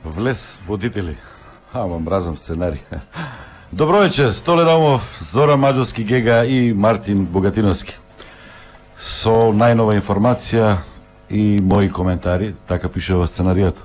Влез водители. Ама мразам сценарij. Добро вечер, Столе Ромов, Зора Маđовски Гега и Мартин Богатиновски. Со најнова информација и мои коментари, така пише во сценаријата.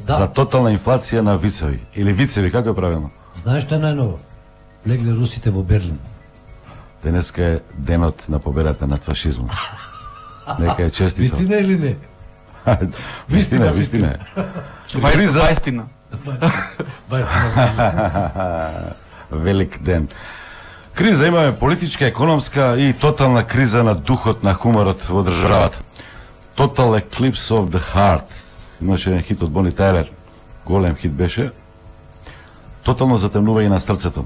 Да. За тотална инфлација на вицеви. Или вицеви, како е правилно? Знаеш што е најново? Легле русите во Берлин. Денеска е денот на победата над фашизмот. Нека е честито. Вистина или не? Вистина. Бајстина. Велик ден. Криза имаме политичка, економска и тотална криза на духот на хуморот во државата. Total Eclipse of the Heart. Имаше еден хит од Бони Тайлер. Голем хит беше. Тотално затемнување на срцето.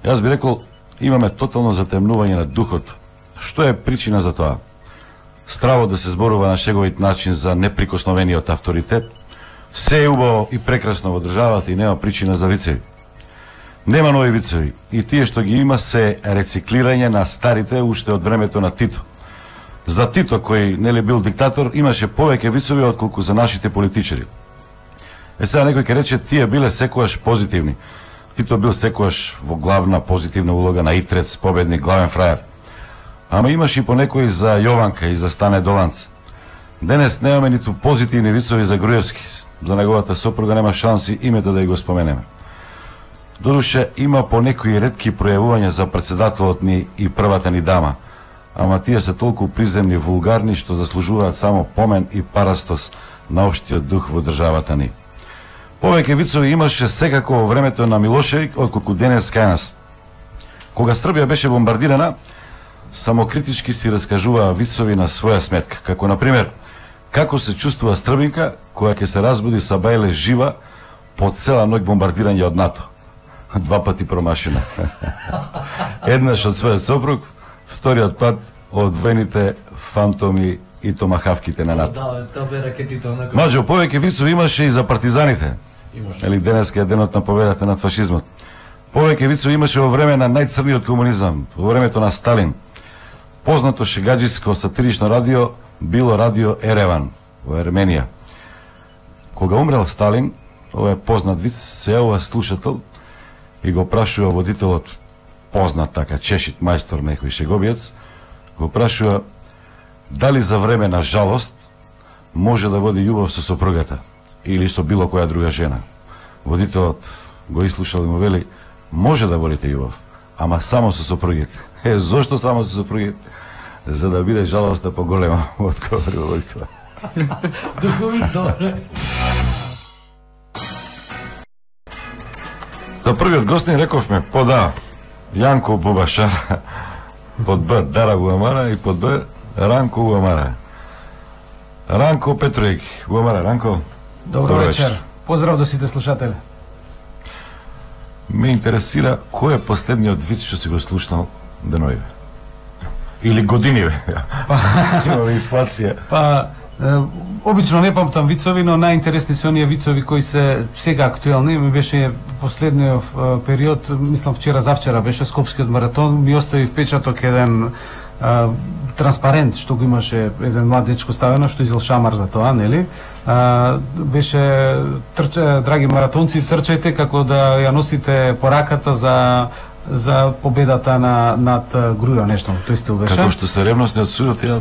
Јас би рекол, имаме тотално затемнување на духот. Што е причина за тоа? Стравот да се зборува на шеговит начин за неприкосновениот авторитет. Се е убаво и прекрасно во државата и нема причина за вицеви. Нема нови вицеви. И тие што ги има се рециклирање на старите уште од времето на Тито. За Тито, кој нели бил диктатор, имаше повеќе вицеви отколку за нашите политичари. Сега некој ќе рече, тие биле секогаш позитивни. Тито бил секогаш во главна позитивна улога на Итрец, победник, главен фраер. Ама имаш и по некој за Јованка и за Стане Доланц. Денес немаме ниту позитивни вицови за Груевски. За неговата сопруга нема шанси името да ја го споменеме. Додуше има по некои ретки пројавувања за председателот ни и првата ни дама. Ама тие се толку приземни, вулгарни, што заслужуваат само помен и парастос на општиот дух во државата ни. Повеќе вицови имаше секако во времето на Милошевик, отколку денес кај нас. Кога Србија беше бомбардирана, самокритички си раскажуваа вицови на своја сметка, како например, како се чувствува србинка која ќе се разбуди са бајле жива по цела ноќ бомбардирање од НАТО. 2 пати промашена. Еднаш од својот сопруг, вториот пат од војните фантоми и томахавките на НАТО. Да, тоа бе ракетите онака. Маđo, повеќе вицови имаше и за партизаните. Или денеска е денот на победата над фашизмот. Повеќе вицови имаше во време на најцрниот комунизам, во времето на Сталин. Познато шегаџиско сатирично радио било радио Ереван во Ерменија. Кога умрел Сталин, ова е познат виц, се јавува слушател и го прашува водителот, познат така чешит мајстор некој шеговиец, го прашува дали за време на жалост може да води љубов со сопругата или со било која друга жена. Водителот го изслушал и му вели, може да водите љубов, ама само со сопругите. Зошто само со сопругите? За да биде жалоста поголема, одговорил водителот. Добре. За првиот гостин рековме под А Јанко Бубашар, под Б Дара Гуамара и под Б Ранко Гуамара. Ранко Петроик Гуамара. Ранко, Добро вечер. Поздрав до сите слушатели. ме интересира кој е последниот виц што си го слушнал деноиве? Или годиниве? Имаме инфлација. Па, обично не памтам вицови, но најинтересни се оние вицови кои се сега актуелни. Ми беше последниот период, мислам вчера-завчера беше Скопскиот маратон, ми остави впечаток еден транспарент што го имаше еден млад дечко ставено, што изел шамар за тоа, нели? Беше драги маратонци, трчајте како да ја носите пораката за победата над Грујо, нешто, тој стил беше. Како што се ревностни од судот, ја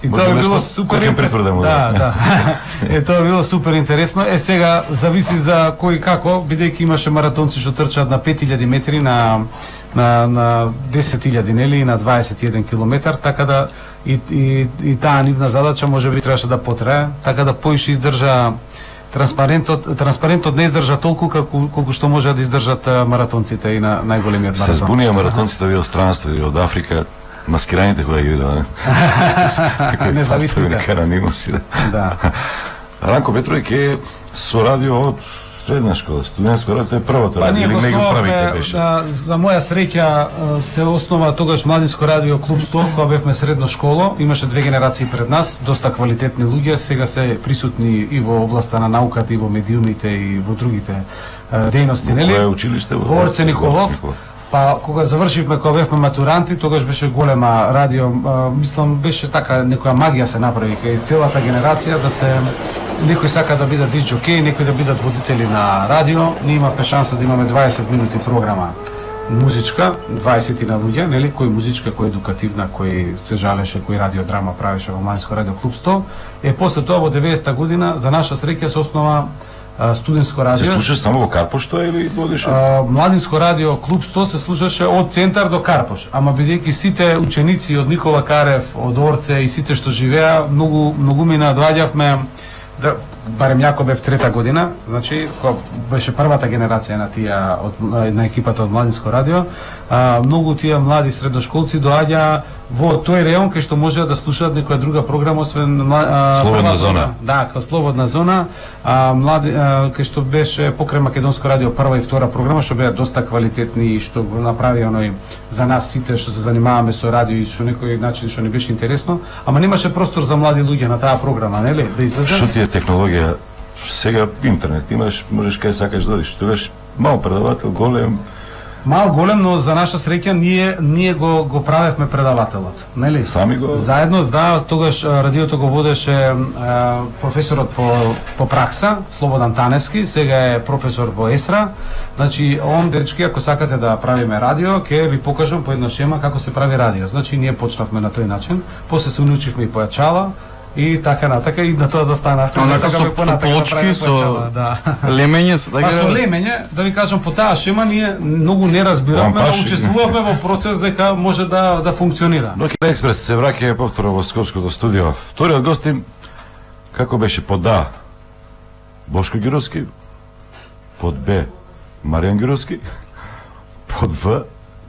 И тоа било супер интересно. Да. Тоа било супер интересно. Сега зависи за кој како, бидејќи имаше маратонци што трчаат на 5000 метри, на 10.000, нели, и на 21 километар, така да и таа нивна задача можеби требаше да потрае, така да поише издржа транспарентот не издржа толку колку што може да издржат маратонците и на најголемиот маратон. се збунија маратонците во странство и од Африка, маскираните кои ги видела. Независните. Да. Ранко Петроик е со радио од средна школа, студентско радио, тоа е првото радио, или не го правите беше? За моја среќа се основа тогаш Младинско радио Клуб 100, кога бевме средна школа, имаше 2 генерации пред нас, доста квалитетни луѓе, сега се присутни и во областа на науката, и во медиумите, и во другите дејности, нели? Во кое училиште? Во Орце Николов. Па кога завршивме, кога бевме матуранти, тогаш беше голема радио, мислам беше така некоја магија се направи кај целата генерација да се некој сака да бидат диск џокеи, некои да бидат водители на радио. Ние имавме шанса да имаме 20 минути програма музичка, 20 на луѓе, нели, кој музичка, кој едукативна, кој се жалеше, кој радиодрама правеше во Младинско радио клуб 100. После тоа во 90-та година за наша среќа се основа студентско радио. Се слушаше само во Карпош тоа или водеше? Младинско радио клуб 100 се слушаше од центар до Карпош, ама бидејќи сите ученици од Никола Карев, од Орце и сите што живеа, многу мина доаѓавме да, барем јако бев трета година, значи кога беше првата генерација на тие на екипата од Младинско радио, многу тие млади средношколци доаѓа во тој реон кај што можеа да слушаат некоја друга програма освен Слободна зона. Да, кај Слободна зона, млади кај што беше покрај Македонско радио прва и втора програма што беа доста квалитетни и што го направи оној за нас сите што се занимаваме со радио и што некој начин што не беше интересно, ама немаше простор за млади луѓе на таа програма, нели, да излезе. Што ти е технологија? Сега интернет имаш, можеш кај сакаш да одиш. Тогаш мал предавател, голем. Мал голем, но за наша среќа ние го правевме предавателот, нели? Сами го. Заедно, да, тогаш радиото го водеше професорот по пракса, Слободан Таневски, сега е професор во ЕСРА. Значи, он дечки, ако сакате да правиме радио, ќе ви покажам по една шема како се прави радио. Значи, ние почнавме на тој начин, после се научивме и појачала, и така натака и на тоа застанавме. Онака со плочки, со лемење, со така. Па со лемење, да ви кажам, по таа шема ние многу не разбиравме, но учествувавме во процес дека може да функционира. Ноќ експрес се враќа повторно во Скопското студио. Вториот гостин како беше под А? Бошко Ѓуровски, под Б Маријан Ѓуровски, под В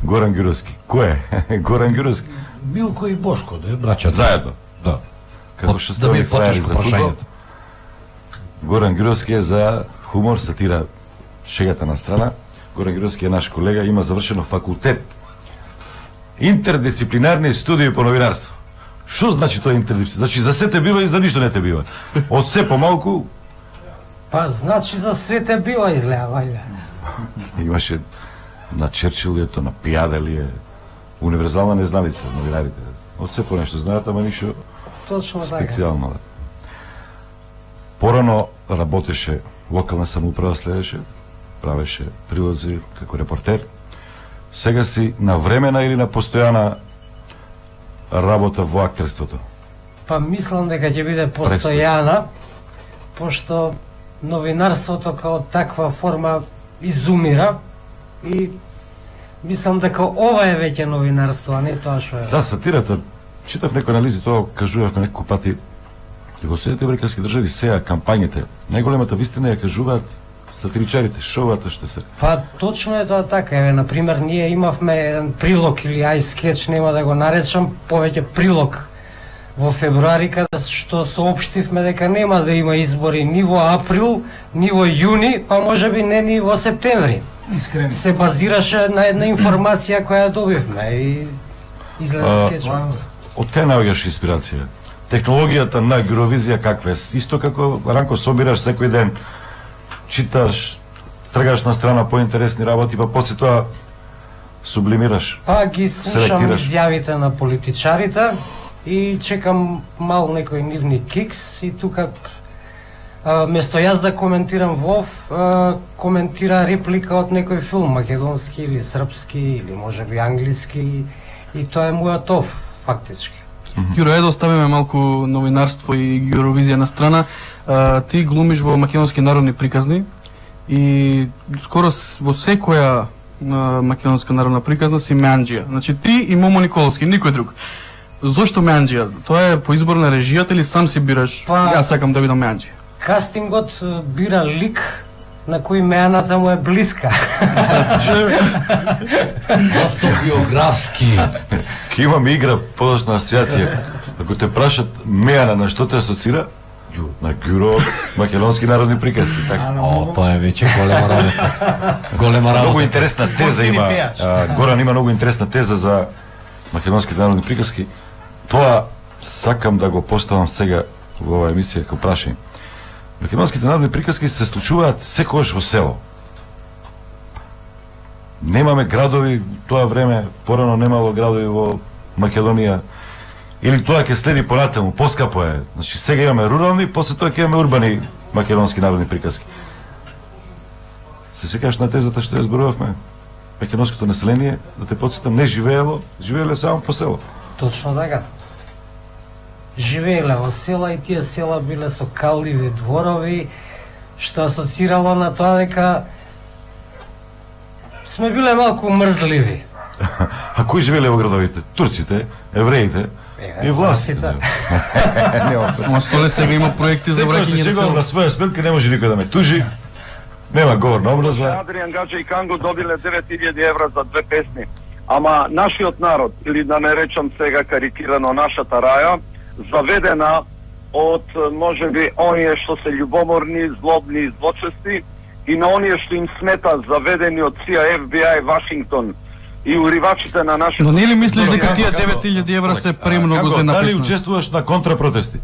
Горан Ѓуровски. Кој е? Горан Ѓуровски. Милко и Бошко, да браќа. Заедно. Да. Како што да ми стои е фрајер за фудбал. прашањето. Горан Ѓуровски е за хумор, сатира, шегата на страна. Горан Ѓуровски е наш колега, има завршено факултет интердисциплинарни студии по новинарство. Што значи тоа интердисциплинарно? Значи за се те бива и за ништо не те бива. Од се помалку Па значи за све те бива изгледа, вајде. имаше на Черчил ли ето, на Пијаде ли е, универзална незналица новинарите. Од се по нешто знаат, ама ништо Точно така. специјално. Да. Порано работеше локална самоуправа, следеше, правеше прилози како репортер. Сега си на времена или на постојана работа во актерството? Па мислам дека ќе биде постојана, пошто новинарството као таква форма изумира и мислам дека ова е веќе новинарство, а не тоа што е. Да, сатирата, читав некои анализи, тоа кажувавме некои пати. Во Соединетите американски држави сега кампањите, најголемата вистина ја кажуваат сатиричарите, шоуата што се. Па точно е тоа така. Еве, на пример, ние имавме еден прилог или ај скеч, нема да го наречам, повеќе прилог во февруари, каде што соопштивме дека нема да има избори ни во април, ни во јуни, па можеби не ни во септември. Искрено. Се базираше на една информација која добивме и изгледа скечот. Од кај наоѓаш инспирација? Технологијата на Евровизија каква е? Исто како Ранко собираш секој ден, читаш, тргаш на страна поинтересни работи, па после тоа сублимираш. Па ги слушам селектираш. изјавите на политичарите и чекам мал некој нивни кикс и тука место јас да коментирам ВОВ, коментира реплика од некој филм, македонски или српски или можеби англиски и тоа е мојот ов, фактички. Ѓуро, да оставиме малку новинарство и Евровизија на страна. Ти глумиш во македонски народни приказни и скоро во секоја македонска народна приказна си Меанџија. Значи ти и Момо Николовски, никој друг. Зошто Меанџија? Тоа е по избор на режијата или сам си бираш? Па- Јас сакам да видам Меанџија. Кастингот бира лик на кој меаната му е блиска. Автобиографски. Ке имаме игра подоцна асоциација. Ако те прашат Меана на што те асоцира? На Ѓуро, македонски народни приказки, така. О, тоа е веќе голема работа. Голема работа. Многу интересна теза има. Горан има многу интересна теза за македонските народни приказки. Тоа сакам да го поставам сега во оваа емисија како прашање. Македонските народни приказки се случуваат секогаш во село. Немаме градови, тоа време порано немало градови во Македонија. Или тоа ќе следи понатаму, поскапо е. Значи сега имаме рурални, после тоа ќе имаме урбани македонски народни приказки. Се секаш на тезата што ја зборувавме? Македонското население, да те подсетам, не живеело само по село. Точно така. Живееле во села и тие села биле со калливи дворови, што асоцирало на тоа дека сме биле малку мрзливи. А кои живееле во градовите? Турците, евреите и властите. Ама столе сега има проекти за враќање на село. На своја сметка не може никој да ме тужи. Нема говорна образа. Адриан Гаджа и Канго добиле 9000 евра за 2 песни. Ама нашиот народ, или да не речам сега карикирано нашата раја, заведена од можеби оние што се љубоморни, злобни и злочести и на оние што им смета заведени од CIA, FBI, Вашингтон и уривачите на нашите... Но не ли мислиш дека тие 9000 евра се премногу за написано? Дали учествуваш на контрапротести?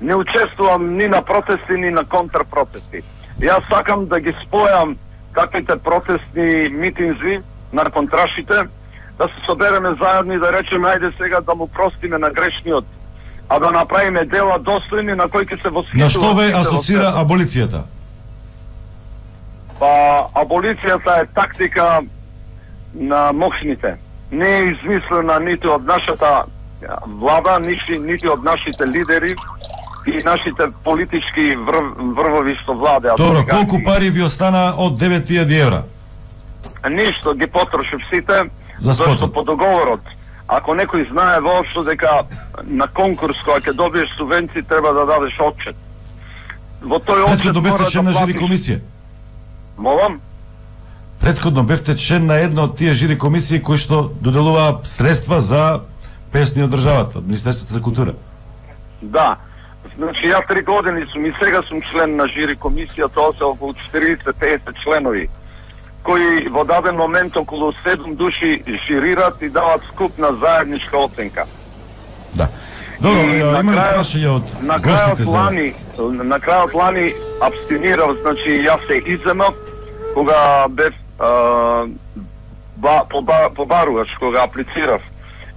Не учествувам ни на протести, ни на контрпротести. Јас сакам да ги спојам каквите протестни митинзи на контрашите, да се собереме заедно и да речеме ајде сега да му простиме на грешниот, а да направиме дела достојни на кои ќе се восхитуват. На што ве асоцира аболицијата? Па аболицијата е тактика на мокшните. Не е измислена ниту од нашата влада, нити од нашите лидери и нашите политички врвови што владеат. Добро, колку пари ви остана од 9000 евра? Ништо, ги потрошив сите, За зашто спотот. по договорот, ако некој знае воопшто дека на конкурс која ќе добиеш субвенции треба да дадеш отчет. Во тој отчет Претходно бевте мора член да на жири платиш. комисија. Молам? Претходно бевте член на една од тие жири комисии кои што доделуваа средства за песни од државата, од Министерството за култура. Да. Значи, ја 3 години сум и сега сум член на жири комисија, тоа се околу 40-50 членови, кои во даден момент околу 7 души жирират и дават скупна заедничка оценка. Да. Добро, И има ли прашање од гостите за... На крајот лани абстинирав, значи јас се иземав кога бев побаруваш, кога аплицирав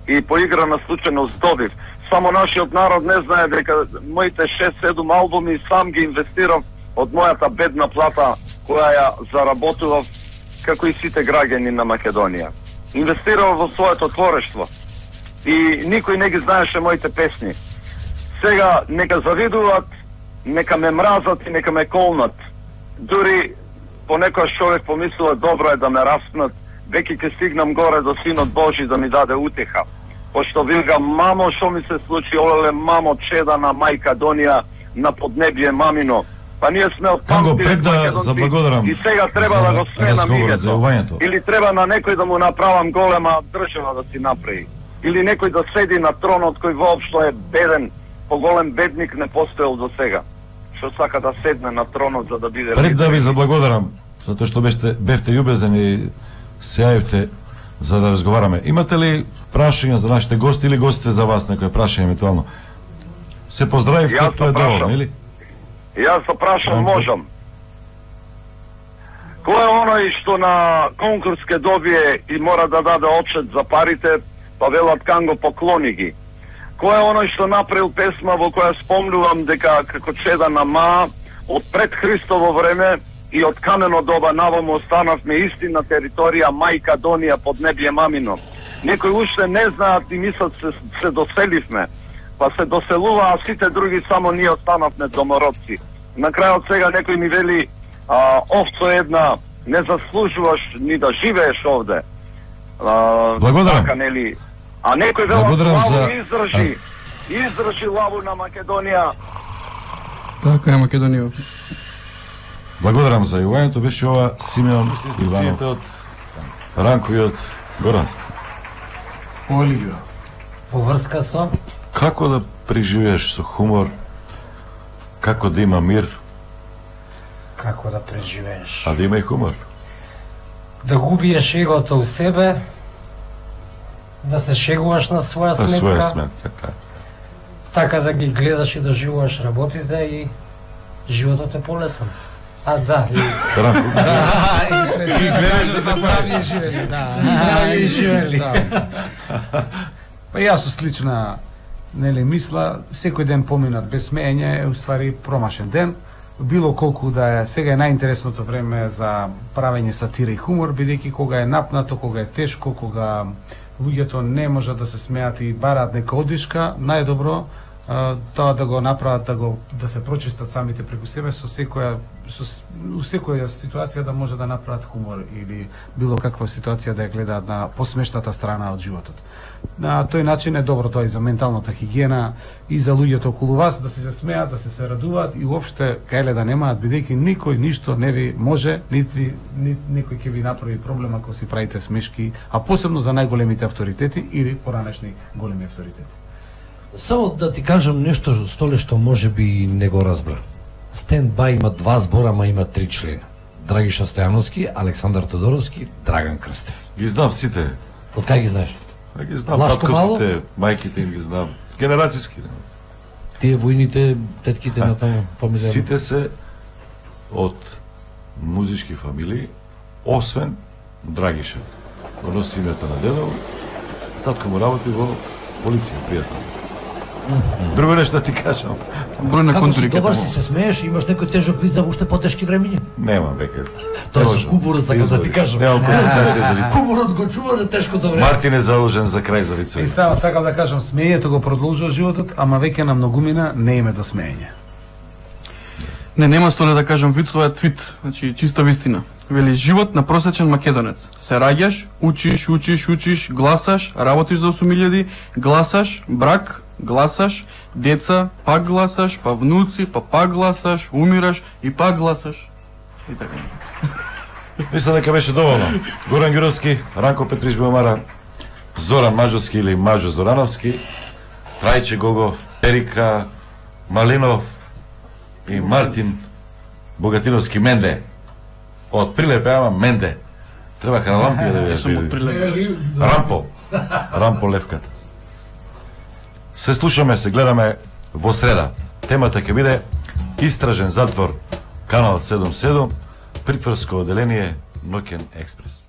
и по игра на случајност добив. Само нашиот народ не знае дека моите 6-7 албуми сам ги инвестирав од мојата бедна плата која ја заработував како и сите граѓани на Македонија. Инвестирав во своето творештво и никој не ги знаеше моите песни. Сега нека завидуваат, нека ме мразат и нека ме колнат. Дури понекојаш човек помислува добро е да ме распнат, веќе ќе стигнам горе до Синот Божи да ми даде утеха. Пошто вилга, мамо, што ми се случи, олеле, мамо, чеда на Мајкадонија, на поднебие мамино. Па ние сме од Канго, пред да заблагодарам и сега треба да го сменам името. Или треба на некој да му направам голема држава да си направи. Или некој да седи на тронот кој воопшто е беден, поголем бедник не постоел до сега. Што сака да седне на тронот за да биде... Пред да ви заблагодарам, затоа што бевте љубезен и се јавивте за да разговараме. Имате ли прашања за нашите гости или гостите за вас, некој прашање евентуално? Се поздравив, тоа е доволно, или? Јас се прашам, можам. Кој е оној што на конкурс ке добие и мора да даде отчет за парите, па велат Канго поклони ги? Кој е оној што направил песма во која спомнувам дека како чеда на Ма, од пред Христово време и од камено доба наваму останавме исти на територија Мајкадонија под небие мамино. Некои уште не знаат и мислат се доселивме, па се доселува, а сите други само ние останавме домородци. На крајот сега некој ми вели, овцо една, не заслужуваш ни да живееш овде. Благодарам. Така, нели? А некој вела, Благодарам лаву за... издржи лаву на Македонија. Така е Македонија. Благодарам за јавувањето, беше ова Симеон Иванов од Ранко и од Горан. Оливија. Во врска со Како да преживееш со хумор, како да има мир, како да преживееш. а да има и хумор? Да губиеш егото у себе, да се шегуваш на своја На сметка, своја сметка, така. така да ги гледаш и да живуваш работите и животот е полесен. А, да, и Ранко, И гледаш за здравје живели, да. здрави и живели. Па јас со слична мисла, секој ден поминат без смеење е уствари промашен ден. Било колку да е, сега е најинтересното време за правење сатира и хумор, бидејќи кога е напнато, кога е тешко, кога луѓето не можат да се смеат и бараат нека одишка, најдобро тоа да го направат, да се прочистат самите преку себе со секоја ситуација да може да направат хумор или било каква ситуација да ја гледаат на посмешната страна од животот. На тој начин е добро тоа и за менталната хигиена и за луѓето околу вас да се смеат, да се радуваат и уопште кајле да немаат, бидејќи никој ништо не ви може, нити некој ќе ви направи проблем ако си правите смешки, а посебно за најголемите авторитети или поранешни големи авторитети. Само да ти кажам нешто, Столе, што може би не го разбра. Стенд-бај има 2 збора, ама има 3 члена. Драгиша Стојановски, Александар Тодоровски, Драган Крстев. Ги знам сите. Од кај ги знаеш? Ги знам Влашко Мало? татковците, мајките им ги знам. Генерацијски. Тие војните, тетките на таму фамилија. Сите се од музички фамилии, освен Драгиша. Он носи името на дедо, татко му работи во полиција, пријател. Друго нешто да ти кажам. Број на Како си контури добар, си се смееш, имаш некој тежок вид за уште потешки времиња? Немам веќе. Тоа е кубурот, сакам да ти кажам. Немам концентрација за вици. Кубурот го чува за тешкото време. Мартин е заложен за крај за вицови. И само сакам да кажам, смеењето го продолжува животот, ама веќе на многумина не име до смеење. Не, нема Столе да кажам виц, тоа е твит, значи чиста вистина. Вели, живот на просечен македонец. Се раѓаш, учиш, гласаш, работиш за 8000, гласаш, брак, гласаш, деца, пак гласаш, па внуци, па пак гласаш, умираш и пак гласаш. И така. Мислам дека беше доволно. Горан Ѓуровски, Ранко Петрич Белмара, Зоран Маџовски или Маџо Зорановски, Трајче Гогов, Ерика Малинов и Мартин Богатиновски Менде. Од Прилепе, ама Менде. Требаха на лампи да ви Сум од Прилепе. Рампо Левката. Се слушаме, се гледаме во среда. Темата ќе биде Истражен затвор, канал 77, притворско оделение Ноќен експрес.